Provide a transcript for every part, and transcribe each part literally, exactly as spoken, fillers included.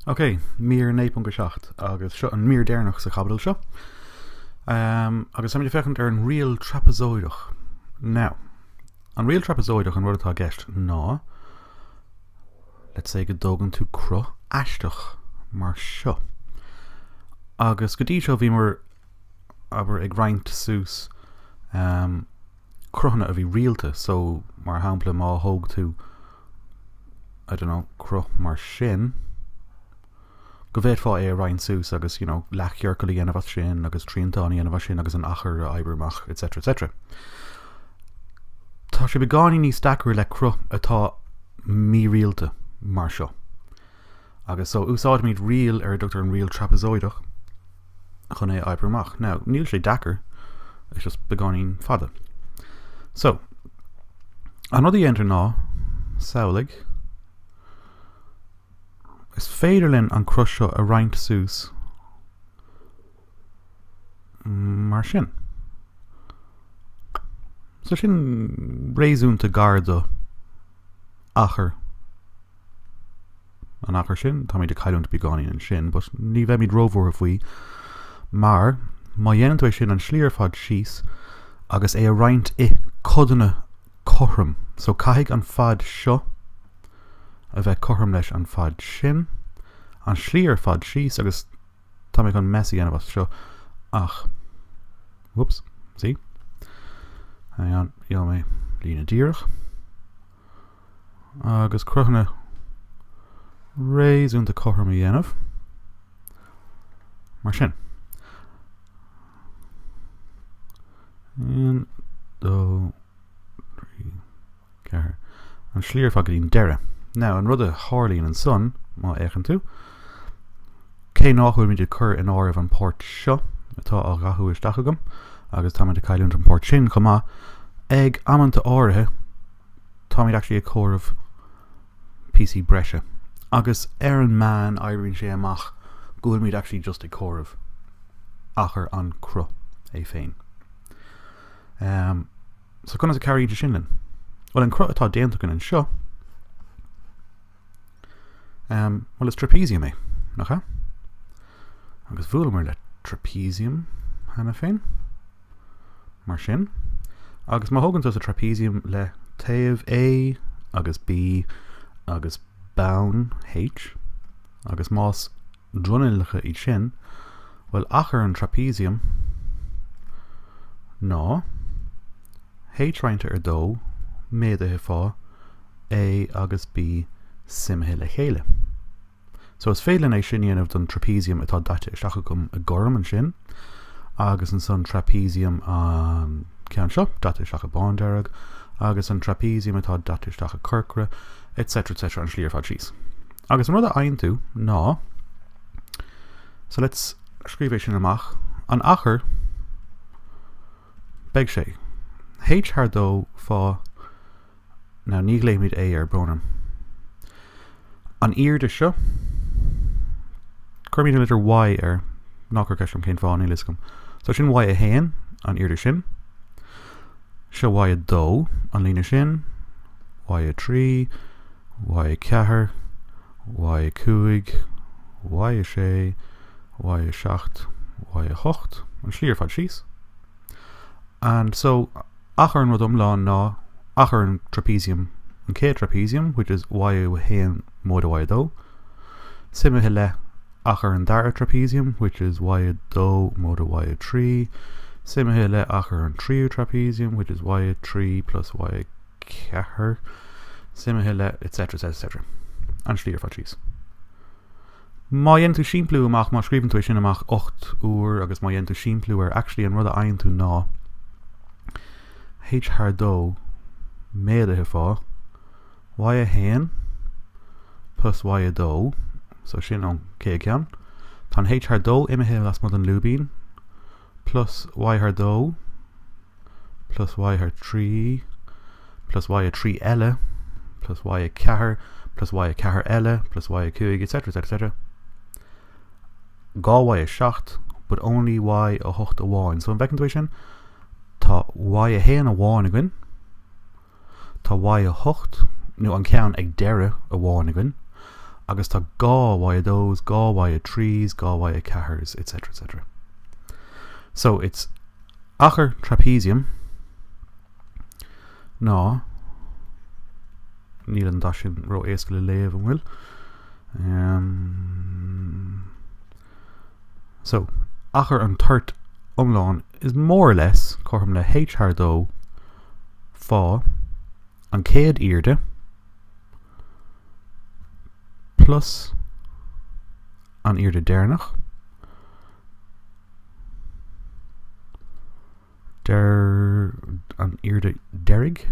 Ok, mír naoi ponc a seacht agus seo an mír deireanach sa chaibidil seo. Um, agus táimid ag féachaint ar an riail trapazóideach. Now, an riail trapazóideach an rud atá i gceist ná, let's say go dtógann tú cruth aisteach mar seo. Agus go dtí seo bhíomar abair ag roinnt suas um, cruthanna a bhí rialta, so mar shampla má thóg tú I don't know, cruth mar sin, go bhféadfá é a roinnt suas agus you know, leathchiorcal a dhéanamh as sin agus triantán a dhéanamh as sin agus an achar a oibriú amach, etc. etc. Tá sé beagáinín níos deacra le cruth atá mírialta mar seo. Agus so úsáidimid riail ar a dtugtar an riail trapazóideach chun é a oibriú amach. Now, níl sé deacair, it's just beagáinín fada. So, an rud a dhéantar ná samhlaigh Is féidir linn an cruth seo a roinnt suas mar sin. So sin réasúnta gar do achar an achar sin, táimid ag cailliúint beagáinín ansin, but ní bheimid róbhuartha faoi mar má dhéanann tú é sin an slí ar fad síos agus é a roinnt i codanna cothrom. So caithfidh an fad seo a bheith cothrom leis an fad sin, an slí ar fad síos agus tá mé chun mess a dhéanamh as seo ach whoops, see? Hang on, gheobhaidh mé líne díreach agus cruthanna réasúnta cothrom a dhéanamh mar sin. Un, dó, trí, ceathair. An slí ar fad go dtí'n deireadh. Now, an rud a tharlaíonn ansan, má fhéachann tú, cé nach bhfuilimid ag cur in áireamh an pháirt seo atá á dhathú isteach agam, agus táimid ag cailliúint an pháirt sin chomh maith, ag amanta áirithe, táimid actually ag comhaireamh píosaí breise. Agus ar an meán oibríonn sé amach go bhfuilimid actually just ag comhaireamh achar an cruth é féin. Um, so conas a chabhraíonn sé sin linn? Well, an cruth atá déanta againn anseo, um, well, is trapezium é, nach ea? Agus bhuaileamar le trapezium cheana féin, mar sin. Agus má thógann tusa trapezium le taobh A agus B agus bonn H, agus más dronuilleacha iad sin, well achar an trapezium ná H roinnte ar dó méadaithe fá A agus B suimithe le chéile. So is féidir linn é sin a dhéanamh don trapezium atá daite isteach agam i gorm ansin, agus ansan trapezium an ceann seo daite isteach i bándearg, agus an trapezium atá daite isteach i corcra, etc etc an slí ar fad síos. Agus an rud a fhaigheann tú ná, so let's scríobh é sin amach, an achar beidh sé H thar dó fá, now ní ghlaoimid A air, brón orm. An airde seo, cuirimid an litir Y air, ná cuir ceist orm cén fáth, níl a fhios agam. So sin Y a haon, an airde sin. Seo Y a dó, an líne sin, Y a trí, Y a ceathair, Y a cúig, Y a sé, Y a seacht, Y a hocht, an slí ar fad síos. And so, achar an rud iomlán ná achar an trapezium, an chéad trapezium, which is Y a haon móide Y a dó, suimithe le achar an dara trapezium, which is Y a dó móide Y a trí, suimithe le achar an tríú trapezium, which is Y a trí plus Y a ceathair, suimithe le etc etc etc. An slí ar fad síos. Má dhéanann tú simpliú amach, má scríobhann tú é sin amach ocht uair agus má dhéanann tú simpliú air, actually an rud a fhaigheann tú ná H thar dó méadaithe fá Y a haon plus Y a dó, so sin an chéad cheann. Tá an H thar dó imithe lasmuigh den lúibín, plus Y thar dó, plus Y thar trí, plus Y a trí eile, plus Y a ceathair, plus Y a ceathair eile, plus Y a cúig, etc etc etc. Dhá Y a seacht, but only Y a hocht amháin. So an bhfeiceann tú é sin? Tá Y a haon amháin againn, tá Y a hocht, nó an ceann ag deireadh amháin againn, Agus tá dhá Y a dós, dhá Y a trís, dhá Y a ceathairs, et cetera, et cetera. So it's achar trapezium ná níl an dath sin ró-éasca le léamh, an bhfuil? Um, so achar an toirt iomlán is more or less cothrom le H thar dó fá an chéad airde plus an airde deireanach der an airde deiridh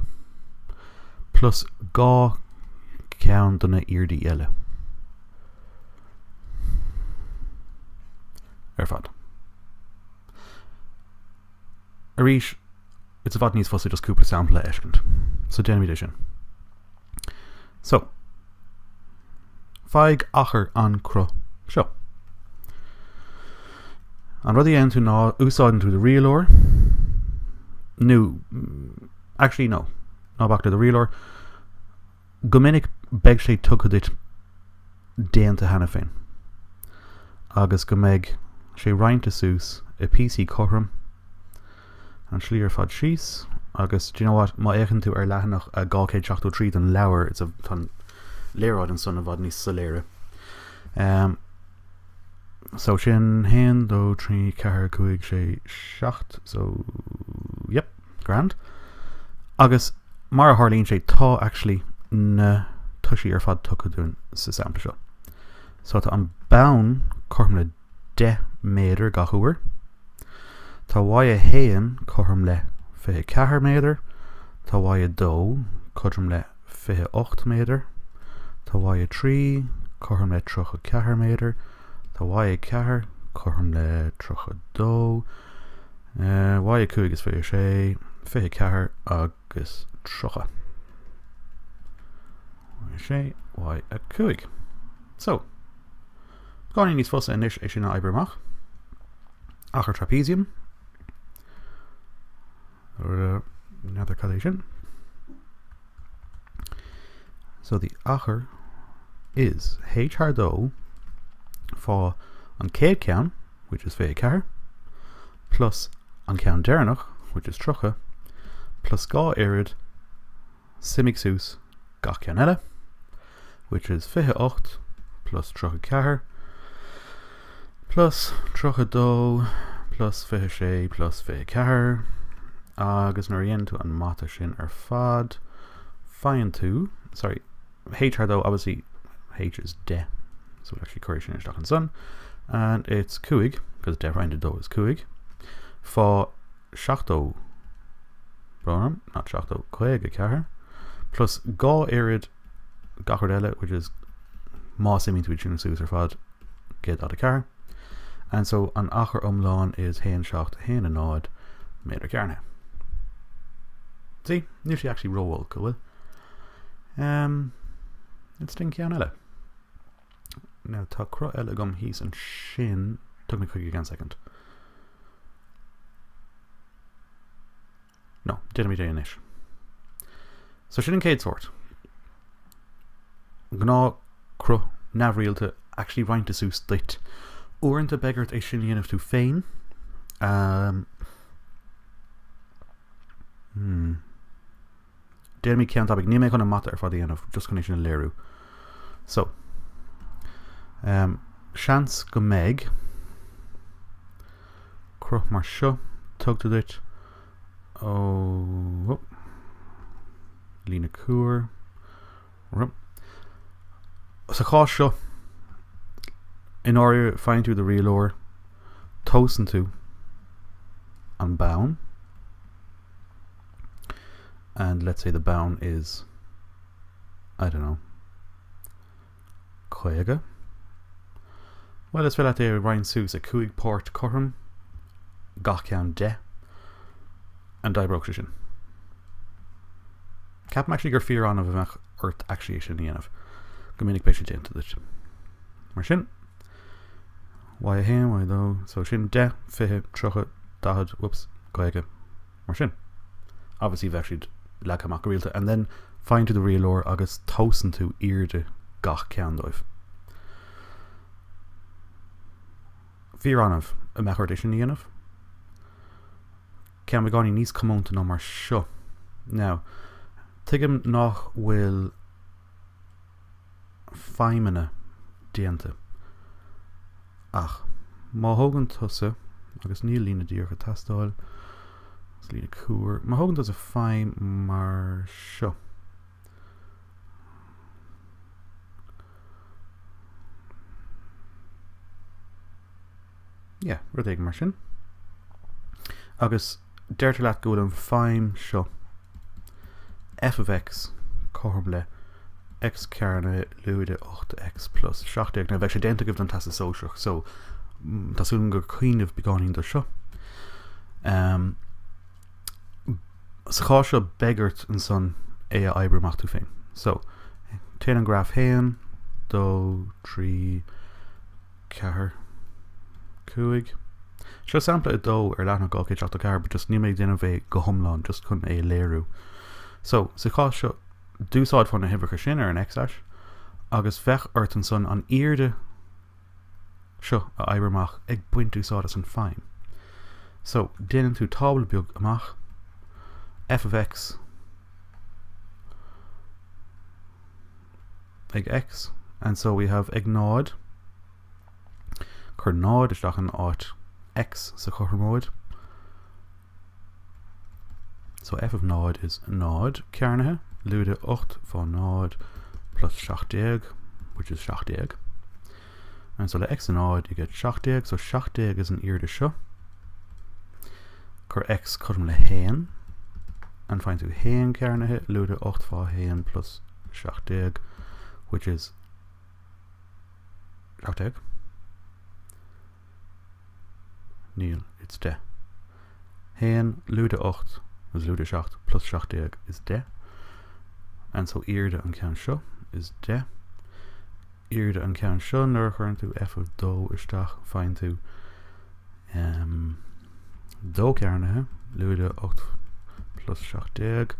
plus dhá ceann de na airde eile ar fad. Arís, it's i bhfad níos fusa just cúpla sampla a fheiscint. So déanaimid é sin. So, faigh achar an cruth seo. An rud a dhéanann tú ná úsáideann tú do rialóir nó actually no, ná bac le do rialóir. Go minic beidh sé tugtha duit déanta cheana féin. Agus go mbeidh sé roinnte suas i píosaí cothrom an slí ar fad síos agus do you know what, má fhéachann tú ar leathanach a dhá chéad seachtó trí den leabhar, it's a tá an léaráid ansan i bhfad níos soiléire. Um, so sin haon, dó, trí, ceathair, cúig, sé, seacht, so yep, grand. Agus mar a tharlaíonn sé tá actually na toisí ar fad tugtha dúinn sa sampla seo. So tá an bonn cothrom le deich méadar gach uair. Tá Y a haon cothrom le fiche ceathair méadar, Tá Y a dó cothrom le fiche ocht méadar, Tá Y a trí cothrom le tríocha ceathair méadar, Tá Y a ceathair cothrom le tríocha dó, uh, Y a cúig is fiche sé, fiche ceathair agus tríocha. Y a sé, Y a cúig. So, beagáinín níos fusa anois é sin a oibriú amach. Achar trapezium. Another cad So the achar is H thar dó fá an chéad ceann, which is fiche ceathair, plus an ceann deireanach, which is tríocha, plus dhá oiread suimigh suas gach ceann eile, which is fiche ocht plus tríocha ceathair, plus tríocha dó plus fiche sé plus fiche ceathair, agus nuair a dhéanann tú an mata sin ar fad, faigheann tú, sorry, H thar dó, obviously H is deich, so we'll actually cuir sin isteach ansan, and it's cúig, because deich roinnt dó is cúig, fá seachtó, brón, not seachtó, caoga ceathair, plus dhá oiread gach rud eile, which is má suimíonn tú sin suas ar fad, céad daichead a ceathair, and so an achar iomlán is haon seacht haon a náid méadar cearnaithe. See, níl sé actually ró-olc, go bhfuil. Um, it's den ceann eile. Now tá cruth eile agam thíos ansin, tug mé chuige gan second. No, déanaimid é anois. So sin an chéad sórt. Gnáth cruth neamhrialta actually roinnte suas duit. Uaireanta beidh ort é sin a dhéanamh tú féin. Um, hmm. Déanaimid ceann tapaidh. Níl mé chun an mata ar fad a dhéanamh, just chun é sin a léiriú. So, um, seans go mbeidh cruth mar seo tugtha duit ó oh, líne cuar. Sa chás seo, in áirithe faigheann tú do rialóir, tomhaiseann tú an bonn, and let's say the bonn is, I don't know, caoga. Well, is féidir leat é a roinnt suas i cúig páirt cothrom, gach ceann deich, and d'oibreodh sé sin. Ceapaim actually gur fíor annamh a bheadh ort actually é sin a dhéanamh. Go minic beidh sé déanta duit. Mar sin, Y a haon, Y a dó, so sin deich, fiche, tríocha, daichead, whoops, caoga, mar sin. Obviously bheadh siad leagtha amach go rialta, and then faigheann tú do rialóir agus tomhaiseann tú airde gach ceann dóibh. Fíor-annamh a mbeadh ort é sin a dhéanamh. Ceann beagáinín níos comónta ná mar seo. Now, tuigim nach bhfuil feidhmeanna déanta. Ach má thógann tusa, agus níl líne díreach ag teastáil, is líne cuar, má thógann tusa feidhm mar seo. Yeah, rud éigin mar sin. Agus deirtear leat go bhfuil an feidhm seo f of x cothrom le x cearnaithe lúide ocht x plus seacht déag. Now bheadh sé déanta agaibh don Teastas Sóisearach, so tá súil agam gur cuimhneamh beagáinín do seo. Um, sa chás seo beidh ort ansan é a oibriú amach tú féin. So, téann an graf haon, dó, trí, ceathair, cúig. Seo sampla a dó ar leathanach dhá chéad seachtó ceathair, but just níl mé ag déanamh é go hiomlán, just chun é a léiriú. So, sa chás seo, d'úsáidfeá na huimhreacha sin ar an x-ais, agus bheadh ort ansan an airde seo a oibriú amach ag baint úsáid as an feidhm. So, déanann tú tábla beag amach, f of x ag x, and so we have ag náid, cuir náid isteach in áit x sa chothromóid. So f of náid is náid cearnaithe, lúide ocht fá náid plus seacht déag, which is seacht déag. And so le x a náid you get seacht déag, so seacht déag is an airde seo. Cuir x cothrom le haon, and find tú haon cearnaithe, lúide ocht fá haon plus seacht déag, which is seacht déag. Níl, it's deich. Haon lúide ocht is lúide seacht plus seacht déag is deich. And so airde an ceann seo is deich. Airde an ceann seo nuair a chuireann tú f of dó isteach, faigheann tú, um, dó cearnaithe, lúide ocht plus seacht déag,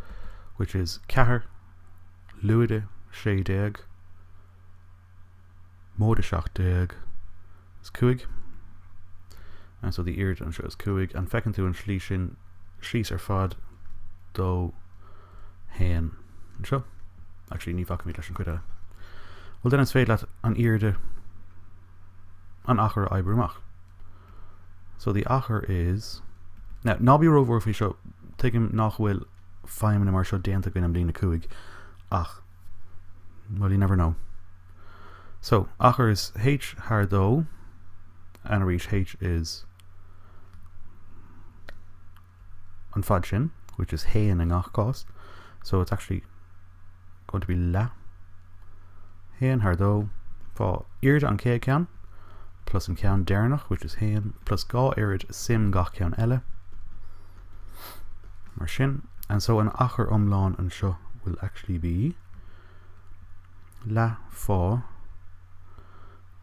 which is ceathair lúide sé déag, móide seacht déag is cúig. And so the airde anseo is cúig, and feiceann tú an slí sin síos ar fad dó haon anseo. Actually, ní bhfacaimid leis an chuid eile. Well, then is féidir leat an airde an achar a oibriú amach. So the achar is... Now, ná bí róbhuartha faoi seo, tuigim nach bhfuil feidhmeanna mar seo déanta againn i mbliain a cúig, ach, well, you never know. So, achar is h thar dó, and arís h is an fad sin, which is haon i ngach cás. So it's actually going to be leath haon thar dó fá airde an chéad ceann plus an ceann deireanach, which is haon, plus dhá oiread suim gach ceann eile mar sin. And so an achar iomlán anseo will actually be leath fá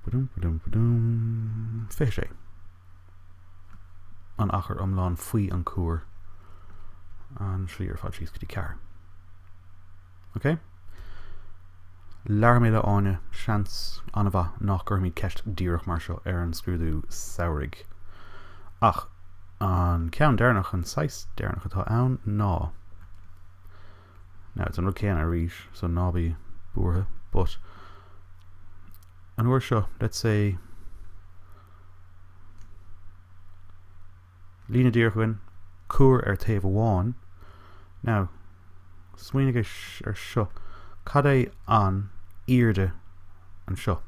badum, badum, badum, fiche sé. An achar iomlán faoi an cuar an slí ar fad síos go dtí ceathair. Okay? Labhair mé le Áine, seans an-mhaith nach gcuirfimid ceist díreach mar seo ar an scrúdú samhraidh. Ach an ceann deireanach, an saghas deireanach atá ann ná. Now it's an rud céanna arís, so ná bí buartha, but an uair seo, let's say líne díreach againn, cuar ar taobh amháin. Now, smaoinigh ar seo, cad é an airde anseo?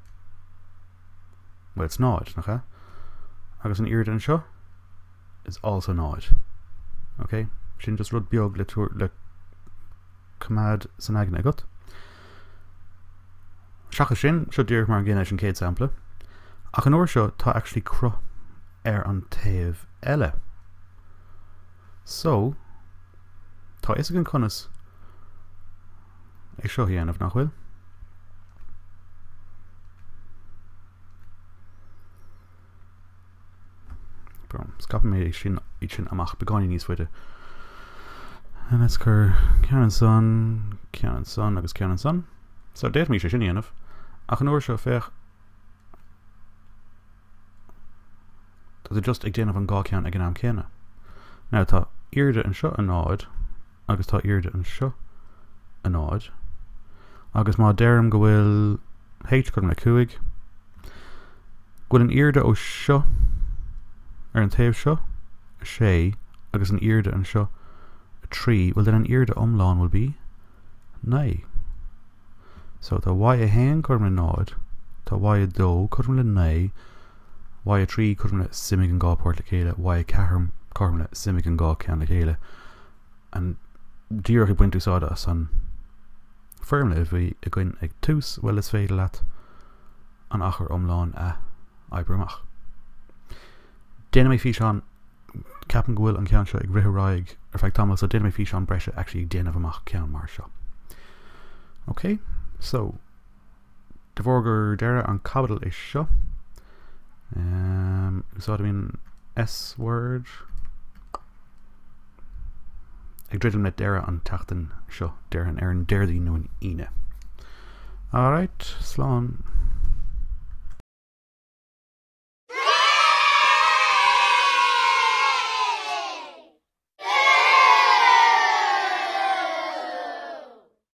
Well, it's náid, nach ea? Agus an airde anseo is also náid. Okay? Sin just rud beag le tuar, le coimeád san aigne agat. Seachas sin, seo díreach mar an gcéanna leis an chéad sampla. Ach an uair seo tá actually cruth ar an taobh eile. So, tá fhios againn conas é seo a dhéanamh, nach bhfuil? Scaipfidh mé sin, iad sin amach beagáinín níos faide. And let's cur ceann ansan, ceann ansan agus ceann ansan. So d'fhéadfaimis é sin a dhéanamh. Ach an uair seo féach Tá tú just ag déanamh an dhá ceann ag an am céanna. Now tá airde anseo a náid agus tá airde anseo a náid. Agus má deirim go bhfuil H cothrom le cúig, go bhfuil an airde ó seo ar an taobh seo a sé agus an airde anseo a trí, well then an airde iomlán will be naoi. So tá Y a haon cothrom le náid, tá Y a dó cothrom le naoi, Y a trí cothrom le suimigh an dhá pháirt le chéile, Y a ceathair cothrom le suimigh an dhá ceann le chéile. An díreach ag baint úsáide as an foirmle a bhí againn ag tús, well is féidir leat an achar iomlán a oibriú amach. Déanfaidh mé físeán ceapaim go bhfuil an ceann seo ag rith ar aghaidh ar feadh tamall so déanfaidh mé físeán breise actually ag déanamh amach ceann mar seo. Ok, so de bharr gur deireadh an caibidil é seo. Um, úsáidim S word ag druidim le deireadh an tseachtain seo déarfainn ar an Déardaoin nó an Aoine. Alright, slán.